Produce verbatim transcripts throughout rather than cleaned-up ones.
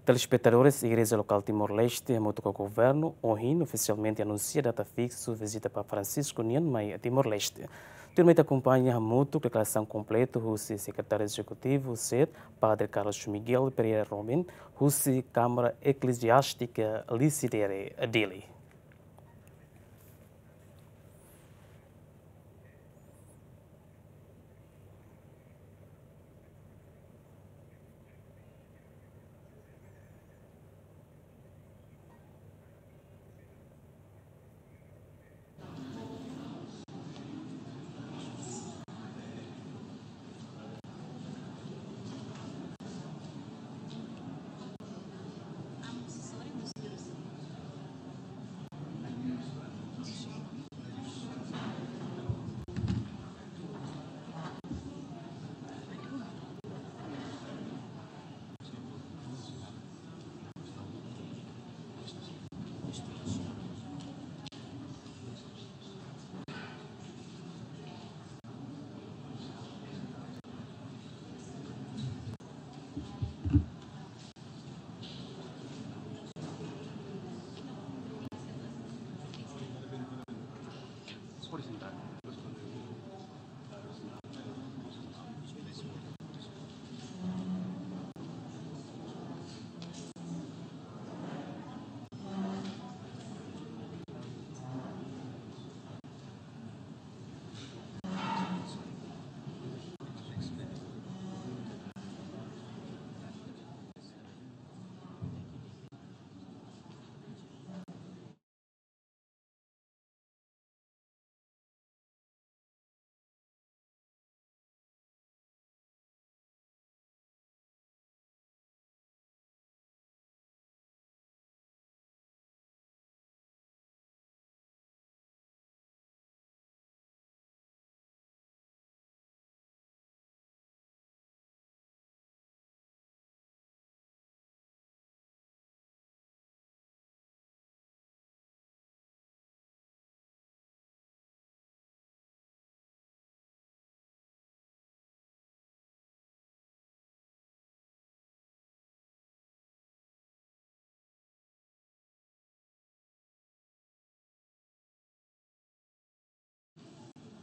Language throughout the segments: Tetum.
Telespetadores, Igreja Lokál Timor-Leste hamutuk ho Governu ohin ofisialmente anunsia data fiksu vizita Papa Francisco nian mai Timor-Leste. Tuirmai ita akompaña hamutuk deklarasaun kompletu husi Sekretáriu Ezekutivu SED, Padre Carlos Miguel Pereira Robin, husi Kámara Ekleziástika Lisidere, Dili.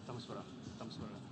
Estamos para, estamos para.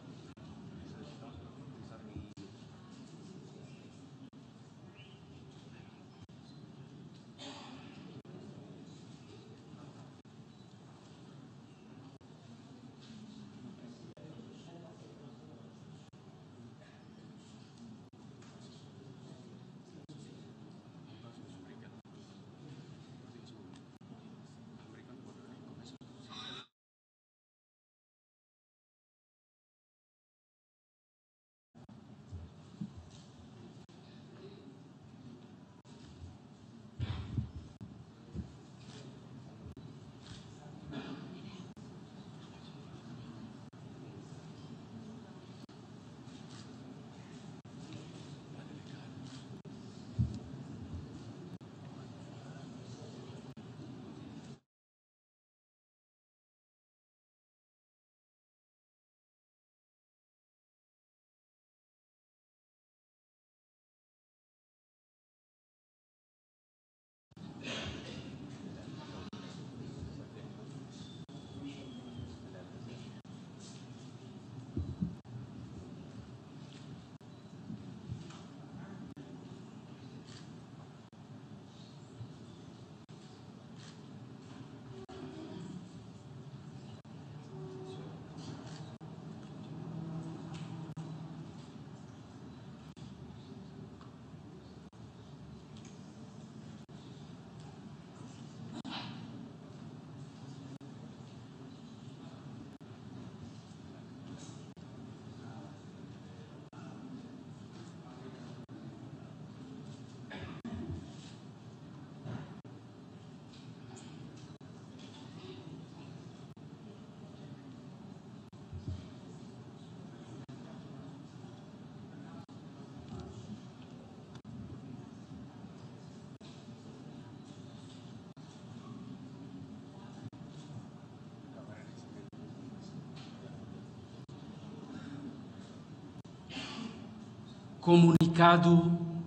Komunikadu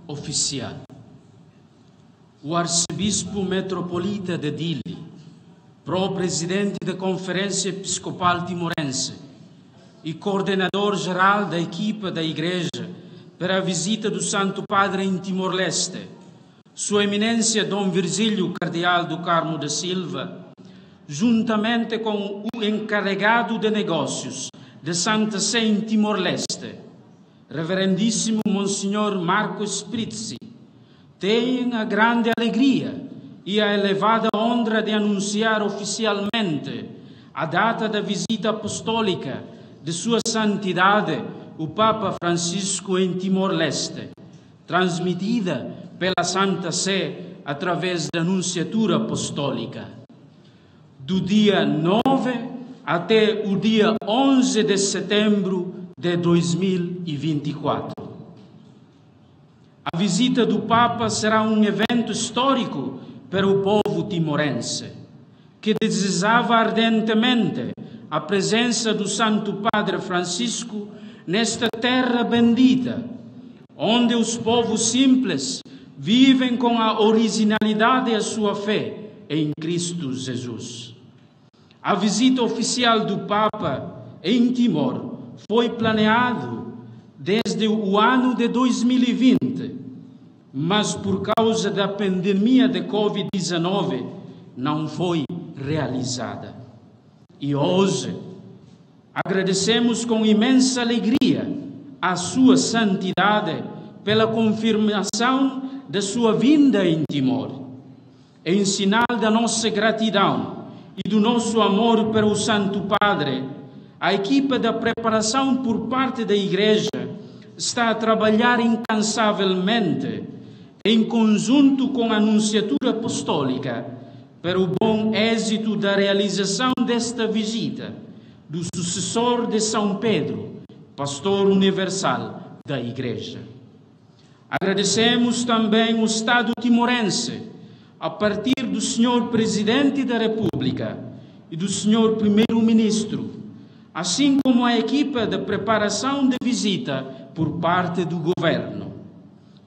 ofisiál. O Arcebispo Metropolita de Dili, pró-prezidente da Conferência Episcopal Timorense e coordenador geral da equipa da Igreja para a visita do Santo Padre em Timor-Leste, Sua Eminência Dom Virgílio Cardeal do Carmo da Silva, juntamente com o encarregado de negócios da Santa Sé em Timor-Leste, Reverendíssimo Monsenhor Marco Sprizzi, têm a grande alegria e a elevada honra de anunciar oficialmente a data da visita apostólica de Sua Santidade, o Papa Francisco, em Timor-Leste, transmitida pela Santa Sé através da Nunciatura Apostólica, do dia nove até o dia onze de setembro de dois mil e vinte e quatro. A visita do Papa será um evento histórico para o povo timorense, que desejava ardentemente a presença do Santo Padre Francisco nesta terra bendita, onde os povos simples vivem com a originalidade a sua fé em Cristo Jesus. A visita oficial do Papa em Timor foi planeado desde o ano de dois mil e vinte, mas por causa da pandemia de covid dezanove não foi realizada. E hoje agradecemos com imensa alegria a Sua Santidade pela confirmação da sua vinda em Timor. Em sinal da nossa gratidão e do nosso amor pelo Santo Padre, a equipa da preparação por parte da Igreja está a trabalhar incansavelmente, em conjunto com a Nunciatura Apostólica, para o bom êxito da realização desta visita do sucessor de São Pedro, Pastor Universal da Igreja. Agradecemos também o Estado timorense, a partir do Senhor Presidente da República e do Senhor Primeiro-Ministro, assim como a equipa de preparação de visita por parte do Governo,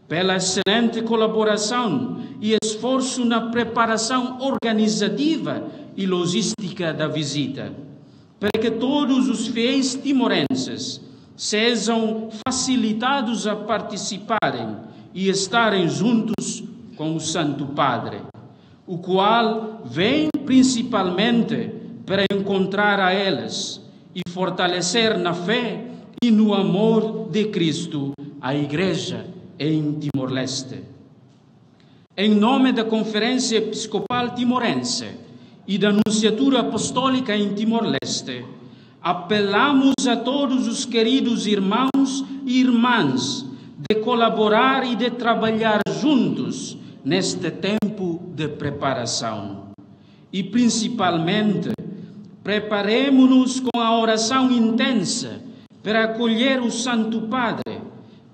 pela excelente colaboração e esforço na preparação organizativa e logística da visita, para que todos os fiéis timorenses sejam facilitados a participarem e estarem juntos com o Santo Padre, o qual vem principalmente para encontrar a eles e fortalecer na fé e no amor de Cristo a Igreja em Timor-Leste. Em nome da Conferência Episcopal Timorense e da Nunciatura Apostólica em Timor-Leste, apelamos a todos os queridos irmãos e irmãs de colaborar e de trabalhar juntos neste tempo de preparação. E, principalmente, preparemo-nos com a oração intensa para acolher o Santo Padre,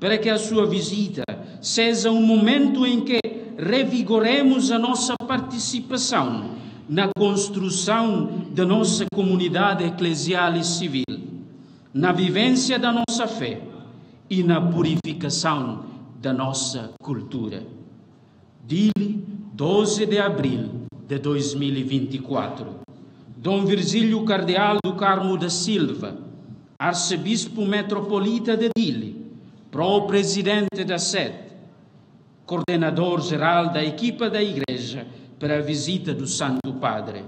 para que a sua visita seja um momento em que revigoremos a nossa participação na construção da nossa comunidade eclesial e civil, na vivência da nossa fé e na purificação da nossa cultura. Dili, doze de abril de dois mil e vinte e quatro. Dom Virgílio Cardeal do Carmo da Silva, Arcebispo Metropolita de Dili, pró-prezidente da SET, coordenador geral da equipa da Igreja para a visita do Santo Padre.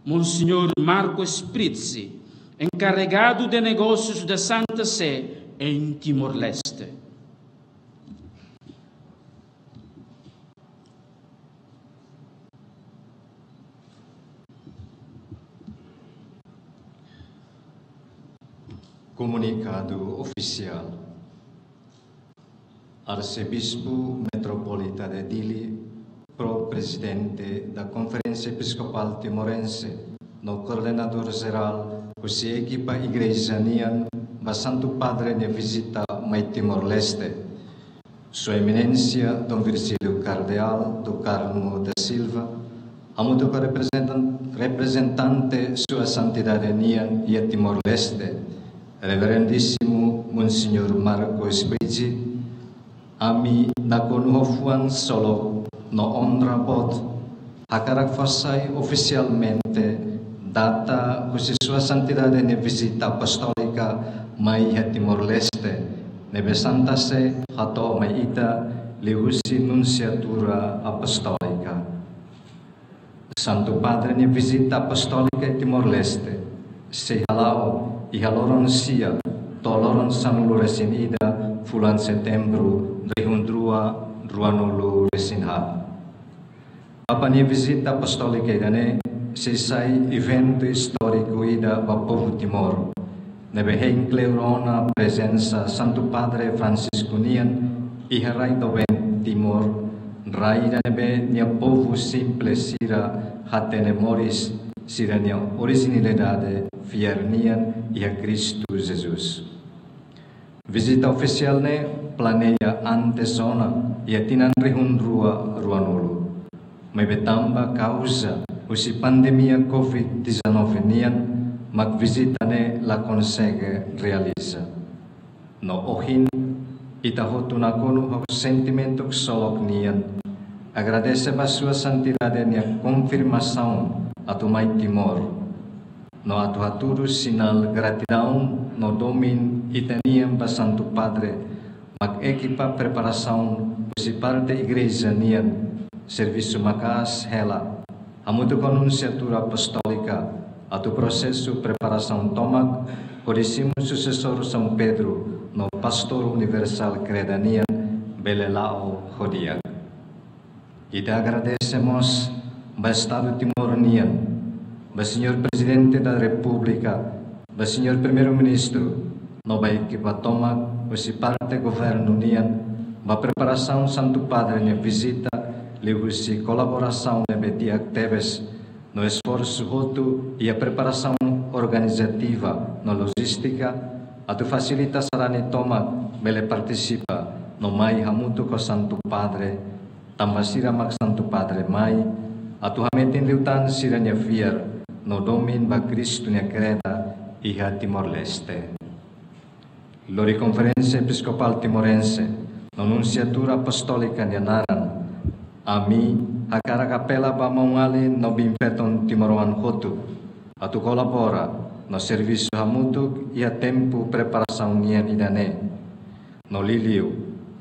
Monsenhor Marco Sprizzi, encarregado de negócios da Santa Sé em Timor-Leste. Komunikadu ofisiál. Arsebispu Metropolita de Dili, pró-prezidente da Conferência Episcopal Timorense, no koordenadór jerál, husi ekipa igreja nian, ba Santu Padre nia vizita mai Timor-Leste. Sua Eminénsia Dom Virgílio Cardeal do Carmo da Silva, hamutuk ho reprezentan-, reprezentante Sua Santidade nian iha Timor-Leste, Reverendíssimo Monsenhor Marco Sprizzi, ami nakonu ho fuan solok No onra boot, hakarak fó sai ofisialmente data husi Sua Santidade nia vizita apostólika mai iha Timor-Leste, ne'ebé Santa Sé hato'o mai ita liuhusi Nunsiatura Apostólika. Santu Padre nia vizita apostólika iha Timor-Leste sei hala'o iha loron sia to'o loron sanulu-resin-ida fulan Setembru rihun rua ruanulu-resin-haat. Papa nia vizita apostólika ida-ne'e sei sai eventu istóriku ida ba povu Timor, ne'ebé hein kleur ona prezensa Santu Padre Francisco nian iha rai doben Timor, rai ida ne'ebé nia povu simples sira hatene moris sira-nia orijinalidade fiar nian iha Kristu Jesus. Vizita ofisiál ne'e planeia antes ona iha tinan rihun rua ruanulu. Maibé tanba kauza husi pandemia covid dezanove nian, mak vizita ne'e la konsege realiza. No ohin, ita hotu nakonu ho sentimentu ksolok nian, agradese ba Sua Santidade nia konfirmasaun atu mai Timor. No atu hatudu sinál gratidaun no domin ita-nian ba Santu Padre, mak ekipa preparasaun husi parte igreja nian servisu maka'as hela, hamutuk ho Nunsiatura Apostólika, atu prosesu preparasaun tomak hodi simu susesór São Pedro no Pastór Universál Kreda nian bele la'o ho di'ak. Ita agradese mós ba Estadu Timor nian, ba Señór Prezidente da Repúblika, ba Señór Primeiru-Ministru, no ba ekipa tomak husi parte governu nian, ba preparasaun Santu Padre nia vizita, liuhusi kolaborasaun ne'ebé di'ak tebes, no esforsu hotu iha preparasaun organizativa no lojístika, atu fasilita sarani tomak bele partisipa no mai hamutuk ho Santu Padre, tanba sira mak Santu Padre mai atu hametin liután sira-nia fiar no domin ba Kristu nia Kreda iha Timor-Leste. Lori Konferénsia Episkopál Timorense no Nunsiatura Apostólika nia naran, ami hakarak apela ba maun-alin no biin-feton timoroan hotu atu kolabora no servisu hamutuk iha tempu preparasaun nian ida-ne'e. No liuliu,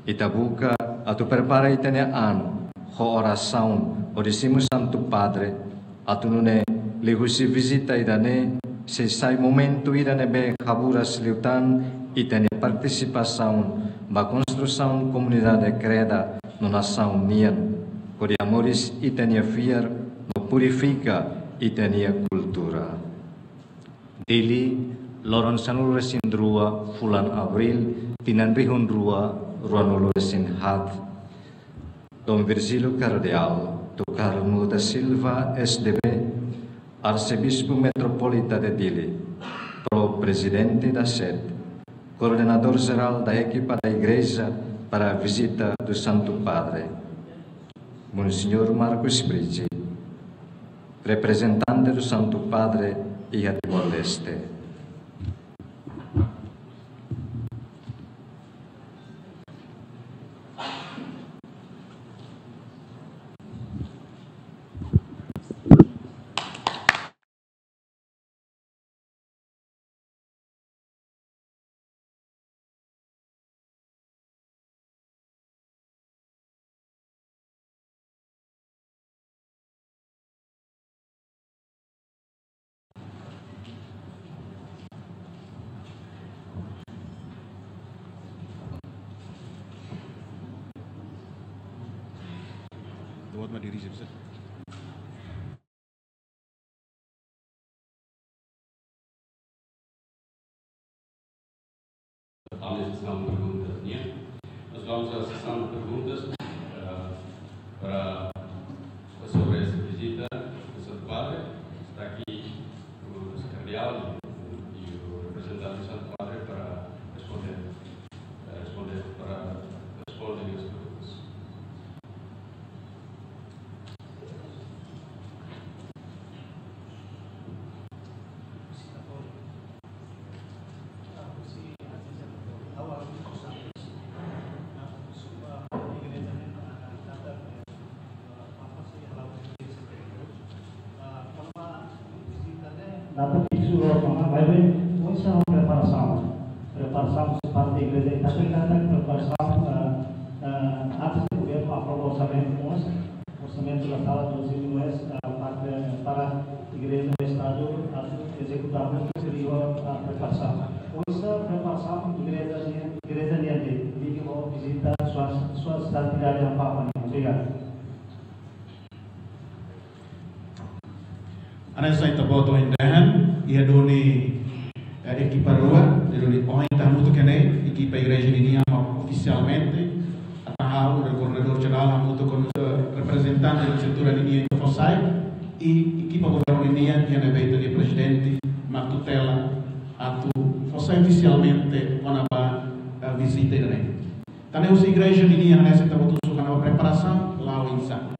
ita buka atu prepara ita-nia an ho orasaun hodi simu Santu Padre, atu nune'e liuhusi vizita ida-ne'e sei sai momentu ida ne'ebé haburas liután ita-nia partisipasaun ba konstrusaun komunidade Kreda no nasaun nian, hodi hamoris ita-nia fiar no purifika ita-nia kultura. Dili, loron sanulu-resin-rua fulan Abríl, tinan rihun rua ruanulu-resin-haat. Dom Virgílio Kardeál Tocarmo da Silva, S D B, Arsebispu Metropolita de Dili, Pro-Prezidente da SED, Coordenador Geral da Equipa da Igreja para a Visita do Santo Padre. Monseñór Marcos Price, reprezentante do Santu Padre iha Timor-Leste. Dapat ma dirije bisa. Vamos à sessão de perguntas, né? Nós vamos à sessão de perguntas, eh, para, sobre essa visita do Santo Padre. Está aqui o nosso cardeal e o representante do Santo Padre para responder, eh, responder, para responder às perguntas. Data fiksu loos ona, maibé oinsá preparasaun. Preparasaun husi parte igreja, ita apresenta preparasaun, ah, ah, antes de governu aprova orsamentu mós, orsamentu da sala doze mil es, ah, parte para igreja no estadu, ah, ezekuta mós, seria, ah, preparasaun. Oinsá preparasaun igreja nian, igreja nian de, de vizita sua, sua santidade Amapá nian. Obrigadu. Hanesan ita-boot ohin dehan, iha duni, eh, ekipa rua, iha duni ohin ita hamutuk iha ne'e, ekipa igreja ninian mak ofisialmente, atan ha'u, koordenadór jerál, hamutuk ho, eh, reprezentante estrutura ninian iha fó sai, i ekipa governu ninian, iha ne'ebé ita-nia prezidente mak tutela, atu fó sai ofisialmente kona-ba, eh, vizita ida-ne'e. Tan ne'e husi igreja ninian hanesan ita-boot husu kona-ba preparasaun, la'o oinsá.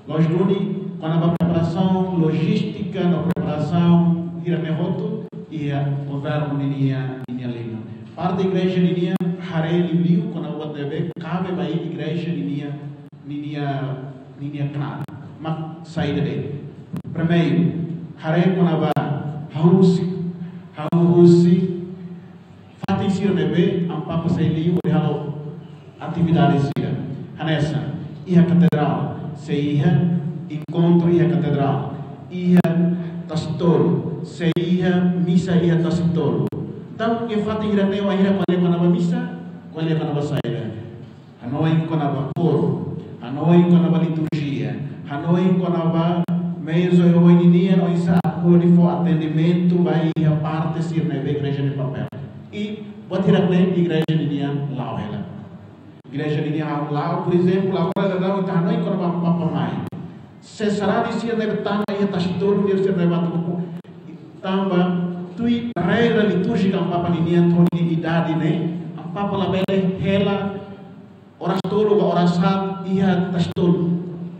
Loos duni, kona-ba preparasaun, lojístika no preparasaun hirak ne'e hotu, iha governu ninia, ninia liman. Parte igreja ninia, haree liuliu, kona-ba buat ne'ebé kabe ba igreja ninia, ninia, ninia knaar. Mak saida de'it. Primeiru, haree kona-ba hahú husi, hahú husi fatin sira ne'ebé Amapá sei liu hodi halo atividade sira. Hanesan, iha katedrál, sei iha enkontru iha katedrál, iha Tasitolu, sei iha misa iha Tasitolu. Entaun, iha fatin hirak ne'e, wainhira ko'alia kona-ba misa, ko'alia kona-ba saida. Hanoin kona-ba koru, hanoin kona-ba liturjia, hanoin kona-ba meius oioin ninian oinsá hodi fó atendimentu ba iha parte sira ne'ebé igreja nia papél. I buat hirak ne'e igreja ninian la'o hela. Igreja ninian la'o, por ezemplu, agora daudaun ita hanoin kona-ba Amapá mai. Se sarani sira ne'ebé tama iha Tasitolu, sira ne'ebé tama, tanba tuir regra litúrjika Amapá ninian, to'o nia idade ne'e, Amapá labele hela oras tolu ka oras haat iha Tasitolu.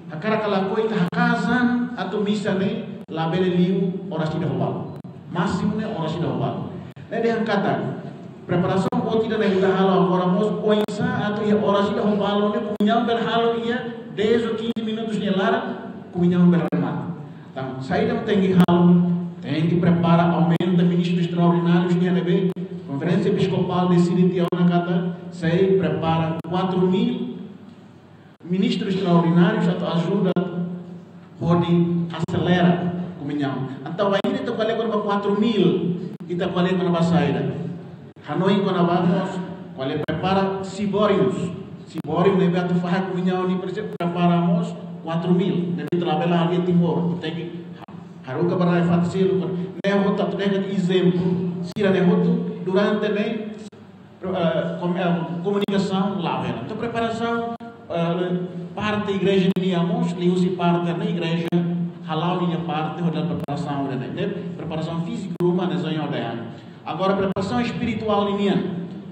Hakarak ka lakohi ita haka'as an atu misa ne'e labele liu oras ida ho balu. Másimu ne'e oras ida ho balu. Ne'e dehan katak preparasaun boot ida ne'e ita halo agora mós oinsá atu iha oras ida ho balu ne'e komuñaun bele halo iha dez ou quinze minutos nia laran, komuñaun bele remata. Entaun, saida mak tenke halo, tenke prepara, aumenta ministru estraordináriu nian ne'ebé Konferénsia Episkopál deside tiha ona katak sei prepara quatro mil ministru estraordináriu atu ajuda hodi aselera komuñaun. Entaun, wainhira ita ko'alia kona-ba quatro mil, ita ko'alia kona-ba saida. Hanoin kona-ba mós, ko'alia prepara siborius. Siboriu ne'ebé atu fahe komuñaun ne'e presiza prepara mós quatro mil. Ne'ebé ita labele halo iha Timor. Tenke haruka ba rai fatin seluk. Ne'e hotu atu dehan ezemplu. Sira ne'e hotu durante ne'e, eh, kom-, eh, komunikasaun la'o hela. Entaun preparasaun, eh, parte igreja ninian mós, liuhusi parte ne'e igreja hala'o ninia parte hodi preparasaun ne'e. Ne'e preparasaun fíziku ruma ne'e só yang ada. Agora, preparasaun espirituál ninian.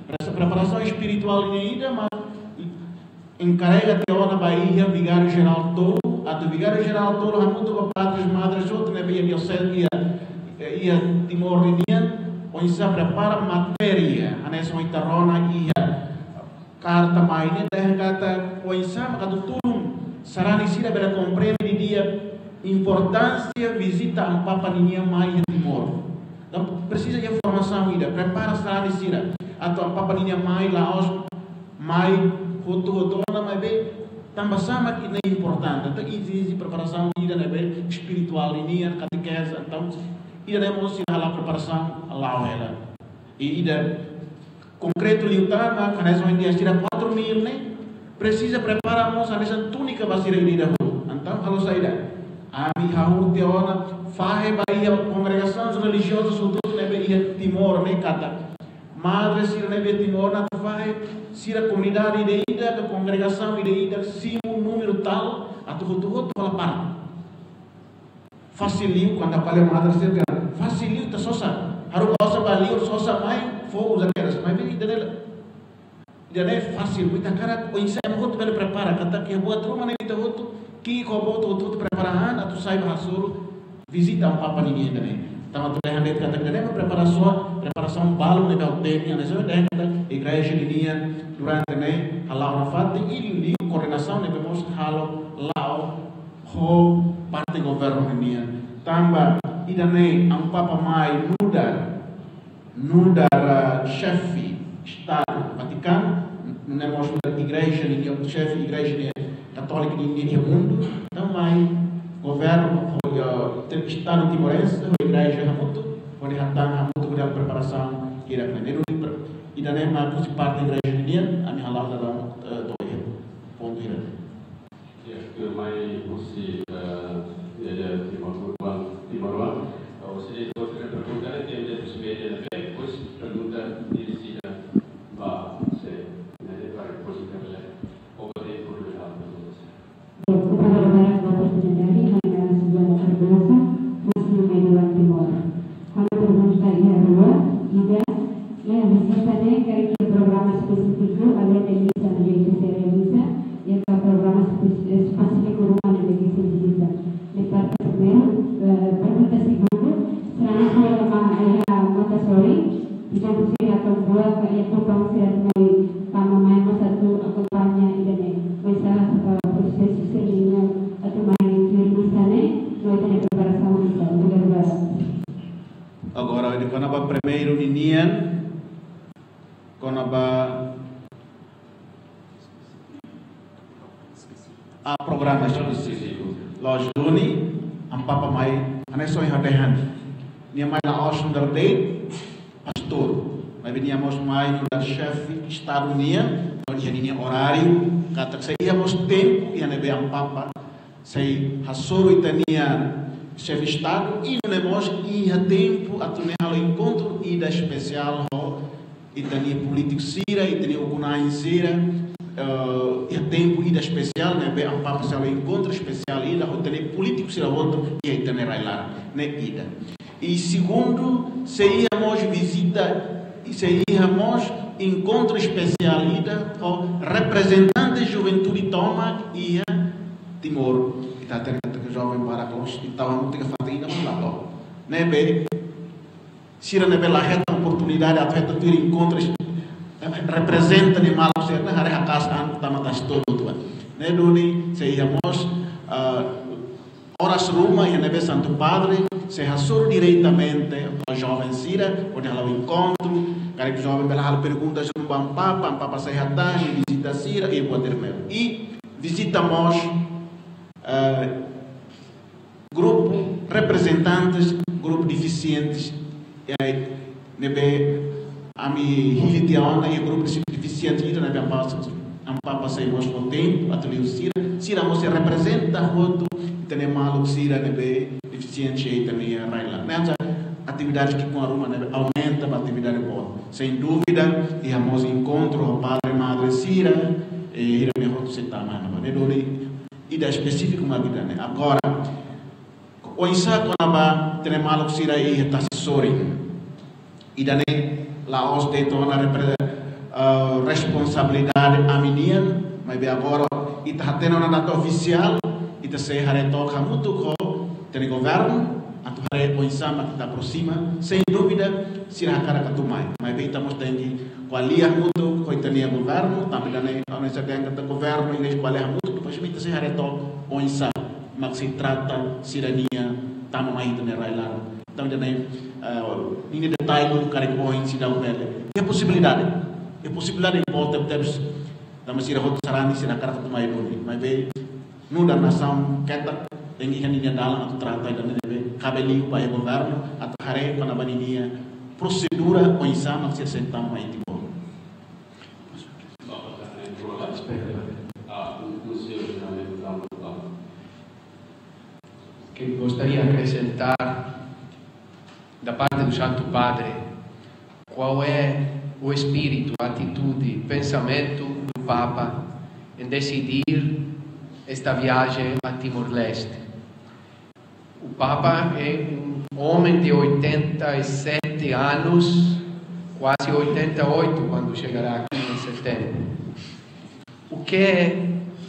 Pre-, preparasaun espirituál ninian ida mak enkarega tiha ona ba iha vigáriu jerál tolu, atu vigáriu jerál tolu hamutuk ho padres, madres hotu ne'ebé iha dioseze, iha, iha Timor ninian, oinsá prepara matéria, hanesan ohin ita rona iha karta mai ne'e dehan katak oinsá mak atu tulun sarani sira bele komprende didi'ak importánsia vizita Amapá ninian mai iha Timor. Entaun presiza iha formasaun ida, prepara sarani sira atu Amapá ninian mai la'ós mai hotu-hotu ona, maibé tanba sá mak ida-ne'e importante. Entaun ezije preparasaun ida ne'ebé espirituál ninian, katekeze, entaun ida-ne'e mós sira hala'o preparasaun la'o hela. I ida konkretu liután mak hanesan ohin dehan sira quatro mil ne'e, presiza prepara mós hanesan túnika ba sira ida-idak hotu. Entaun halo saida? Ami hahú tiha ona fahe ba iha kongregasaun relijioza hotu-hotu ne'ebé iha Timor ne'e katak madre sira ne'ebé Timor atu fahe sira komunidade ida-idak, kongregasaun ida-idak, simu númeru tal, atu hotu-hotu hola parte. Fasil liu, kuandu ko'alia madre sira dehan, fasil liu ita sosa. Haruka osan ba liur, sosa mai, fó uza kedas. Maibé ida-ne'e, ida-ne'e fasil, ita hakarak oinsá ema hotu bele prepara, katak iha buat ruma ne'e ita hotu, ki'ik ho boot hotu-hotu prepara an, atu sai ba hasoru vizita Amapá ninian ida-ne'e. Tanba atu dehan de'it katak ida-ne'e mak preparasaun, preparasaun balun ne'ebé ha'u temi, hanesan dehan katak igreja ninian durante ne'e hala'o nafatin, i liu koordenasaun ne'ebé mós halo la'o ho parte governu ninian. Tanba ida-ne'e Amu Papa mai nu'udar, nu'udar, ah, xefe Estadu Vatikanu, nune'e mós nu'udar igreja nian, xefe igreja nian katólika nian iha mundu, tanba mai governu, ho, ah, te-, Estadu timorense, ho igreja hamutuk, hodi hatán hamutuk hodi halo preparasaun hirak-ne'e. Ne'e duni pre-, ida-ne'e mak husi parte igreja nian, ami hala'o dadaun, eh, to'o iha pontu hirak-ne'e. Ya, tuirmai husi, eh, ya, ya, Timor Urban, Timor Urban. Eh, husi de, husi de pergunta, ne'e, tende husi media, ne'e, depois pergunta direjida ba, se, ne'e, para depois internet. Obrigadu por pergunta. Obrigada barak ba oportunidade, ha'u naran Suzana Cardoso, husi Media One Timor. Ha'u-nia pergunta iha rua, ida, iha vizita ne'e karik iha programa espesífiku, além de misa ne'ebé sei realiza, iha programa espe-, espesífiku ruma ne'ebé sei vizita. Ne'e parte primeiru, eh, pergunta segundu, será que programa iha mota sorin, entaun sira atu buat ka iha kupan sira atu mai tama mai mós atu akompaña ida-ne'e. Oinsá, eh, prosesu sira-nian atu mai tuir misa ne'e, no ita-nia preparasaun misa. Obrigadu barak. Agora, de kona-ba primeiru ninian, kona-ba, ah, programa espesífiku. Loos duni, Amu Papa mai, hanesan ohin ha'u dehan. Nia mai la'ós nu'udar de'it pastór. Maibé nia mós mai nu'udar xefe Estadu nian, no iha ninia oráriu, katak se iha mós tempu, iha ne'ebé Amu Papa sei hasoru ita-nia xefe Estadu, i nune'e mós iha tempu atu nune'e halo enkontru ida espesiál ho ita-nia polítiku sira, ita-nia ukun-na'in sira, eh, iha tempu ida espesiál, ne'ebé Amu Papa sei halo enkontru espesiál ida ho ita-nia polítiku sira hotu iha ita-nia rai-laran, ne'e ida. I segundu, sei iha mós vizita, i sei iha mós enkontru espesiál ida ho reprezentante juventude tomak iha Timor. Ita hatene katak joven barak loos, ita hamutuk iha fatin ida mak la to'o. Ne'ebé, sira ne'ebé la hetan oportunidade atu hetan tuir enkontru, eh, reprezenta nia maluk sira-ne'e, haree haka'as an tama tasi to'o tua. Ne'e duni sei iha mós, ah, oras ruma iha ne'ebé Santu Padre sei hasoru diretamente ba joven sira, hodi halo enkontru, karik joven bele halo pergunta ba Amu Papa, Amu Papa sei hatán, vizita sira, i buat ida-ne'e. I vizita mós, eh, grupu reprezentante grupu defisiente, eh, ne'ebé ami hili tiha ona iha grupu defisiente ida ne'ebé Amu Papa, Amu Papa sei mós fó tempu atu liu sira, sira mós sei reprezenta hotu ita-nia maluk sira ne'ebé defisiente iha ita-nia rai-laran. Ne'e hanesan atividade ki'ikoan ruma ne'ebé aumenta ba atividade boot. Sem dúvida, iha mós enkontru ho padre madre sira, eh, sira-ne'e hotu sei tama ona. Ne'e duni ida espesífiku mak ida-ne'e. Agora, oinsá kona-ba ita-nia maluk sira iha tasi sorin. Ida-ne'e la'ós de'it ona repre-, eh, responsabilidade ami-nian, maibé agora ita hatene ona data ofisiál, ita sei haree took hamutuk ho ita-nia governu, atu haree oinsá mak ita aproxima, sem dúvida, sira hakarak atu mai. Maibé ita mós tenke ko'alia hamutuk ho ita-nia governu, tanba ida-ne'e, oinsá dehan katak governu, igreja ko'alia hamutuk, depois ita sei haree took oinsá mak sei trata sira-nia tama mai ita-nia rai-laran. Entaun, ida-ne'e, eh, ninia detalle karik ohin seidauk bele. Iha posibilidade. Iha posibilidade boot tebetebes. Tanba sira hotu sarani sira hakarak atu mai duni. Maibé, nu'udar nasaun ketak, tenke iha ninia dalan atu trata ida-ne'e ne'ebé kabe liu ba iha governu, atu haree kona-ba ninia prosedura oinsá mak sira sei tama mai Timor. Que gostaria de acrescentar da parte do Santo Padre, qual é o espírito, a atitude, pensamento do Papa em decidir esta viagem a Timor-Leste? O Papa é um homem de oitenta e sete anos, quase oitenta e oito, quando chegará aqui em setembro. O que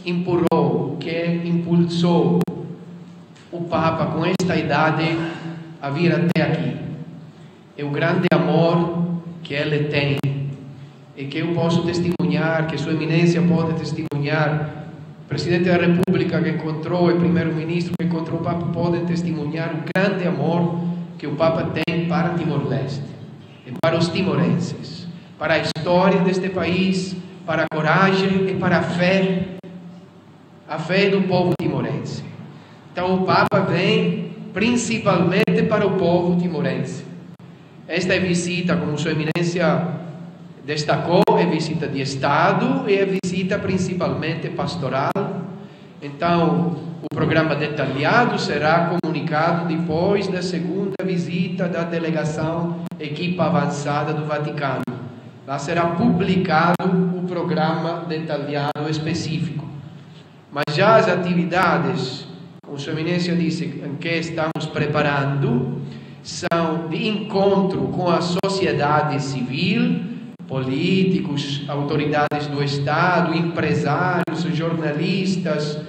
empurrou, o que impulsou o Papa com esta idade a vir até aqui? É o grande amor que ele tem e que eu posso testemunhar, que Sua Eminência pode testemunhar, Presidente da República que encontrou, e Primeiro-Ministro que encontrou o Papa podem testemunhar o grande amor que o Papa tem para Timor-Leste e para os timorenses, para a história deste país, para a coragem e para a fé, a fé do povo timorense. Então, o Papa vem principalmente para o povo timorense. Esta é visita, como Sua Eminência destacou, é visita de Estado e é visita principalmente pastoral. Então, o programa detalhado será comunicado depois da segunda visita da delegação equipa avançada do Vaticano. Lá será publicado o programa detalhado específico. Mas já as atividades, como Sua Eminência disse, em que estamos preparando, são de encontro com a sociedade civil, políticos, autoridades do Estado, empresários, jornalistas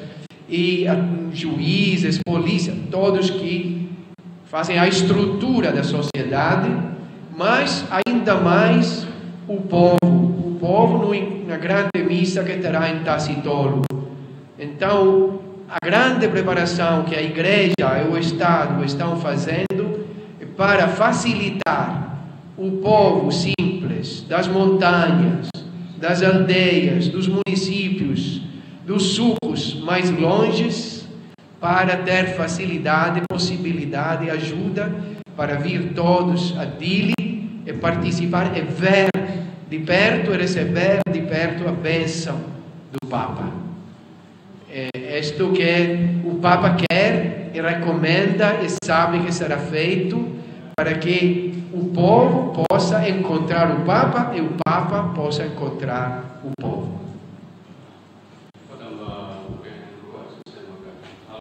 e, ah, juízes, polícia, todos que fazem a estrutura da sociedade, mas ainda mais o povo, o povo no, na grande missa que terá em Tasitolu. Então, a grande preparação que a igreja e o Estado estão fazendo é para facilitar o povo simples das montanhas, das aldeias, dos municípios, dos sucos mais longes, para ter facilidade, possibilidade e ajuda para vir todos a Dili e participar e ver de perto e receber de perto a bênção do Papa. É isto que o Papa quer e recomenda e sabe que será feito para que o povo possa encontrar o Papa e o Papa possa encontrar o povo.